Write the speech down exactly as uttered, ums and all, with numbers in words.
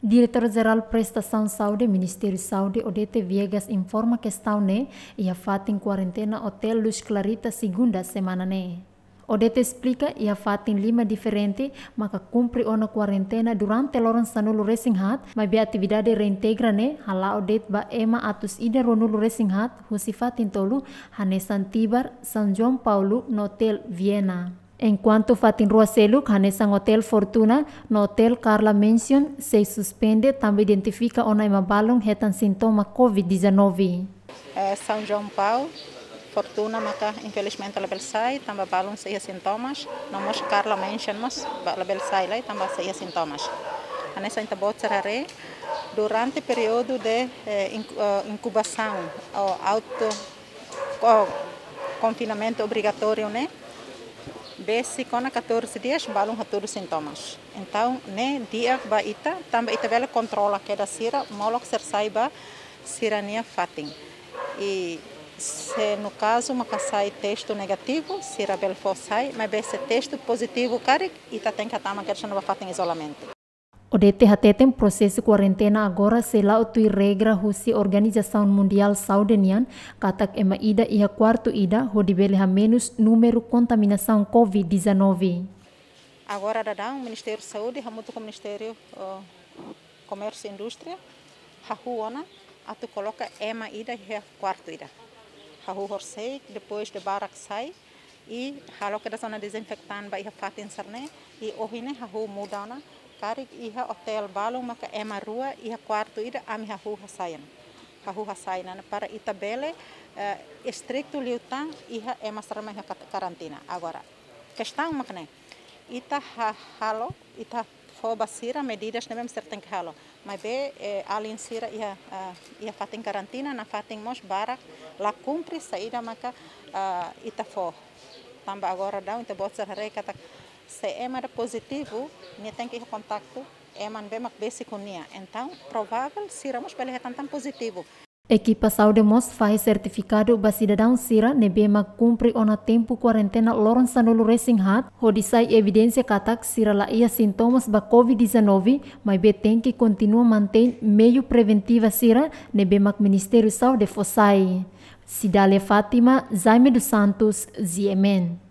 Diretór Jerál Prestasaun Saúde, Ministériu Saúde, Odete Viegas, informa kestaun ne'e iha fatin kuarentena Hotel Luz Clarita, segunda semana ne'e. Odete esplika, iha fatin lima diferente maka kumpre ona kuarentena durante loron sanulu-resin-haat, maibé atividade reintegra ne'e hala'o de'it ba ema atus ida ruanulu-resin-haat husi fatin tolu, hanesan Tibar, São João Paulo no Hotel Viena. Enkuantu fatin rua seluk, hanesan Hotel Fortuna no Hotel Carla Mansion, sei suspende tanba identifika ona ema balun hetan sintoma covid dezanove. Eh, São João Paulo, Fortuna maka infelizmente labele sai, tanba balun sei iha sintomas, no mós Carla Mansion mós ba-, labele sai lai, tanba sei iha sintomas. Hanesan ita-boot sira haree, durante períodu de, eh, inku-, eh, inkubasaun, ou auto, ou konfinamentu obrigatóriu ne'e, besik ona catorze dias, balun hatudu sintomas. Entaun, ne'e di'ak ba ita, tanba ita bele kontrola kedas sira, molok sira sai ba sira-nia fatin. I se no kazu maka sai testu negativu, sira bele fó sai, maibé se testu pozitivu karik, ita tenke hatama kedas ona ba fatin izolamentu. Odete hateten prosesu kuarentena agora sei la'o tuir regra husi Organizasaun Mundiál Saúde nian, katak ema ida iha kuartu ida, hodi bele hamenus númeru kontaminasaun covid dezanove. Agora daudaun, Ministériu Saúde, hamutuk ho Ministériu, eh, Komérsiu Indústria, hahú ona atu koloka ema ida iha kuartu ida. Hahú horisehik, depois de barak sai, i halo kedas ona dezinfetan ba iha fatin sira-ne'e, i ohin ne'e hahú muda ona, karik iha hotel balun maka ema rua iha kuartu ida, ami hahú hasai ona. Hahú hasai ona para ita bele, eh, estritu liután iha ema sira mak iha kat-, karantina. Agora, kestaun mak ne'e, ita ha-, halo, ita fó ba sira medidas ne'ebé mak sira tenke halo. Maibé, eh, alin sira iha, ah, iha fatin karantina, nafatin mós barak la kumpre saida maka, ah, ita fó. Tanba agora daudaun, ita-boot sira haree katak se ema ida pozitivu, nia tenke iha kontaktu ema ne'ebé mak besik ho nia. Entaun, provável, sira mós bele hetan tan pozitivu. Ekipa saúde mós fahe sertifikadu ba sidadaun sira ne'ebé mak kumpre ona tempu kuarentena loron sanulu-resin-haat, hodi sai evidénsia katak sira la iha sintomas ba covid dezanove, maibé tenke kontinua mantein meiu preventiva sira ne'ebé mak Ministériu Saúde fó sai. Cidália Fátima, Jaime dos Santos, G M N.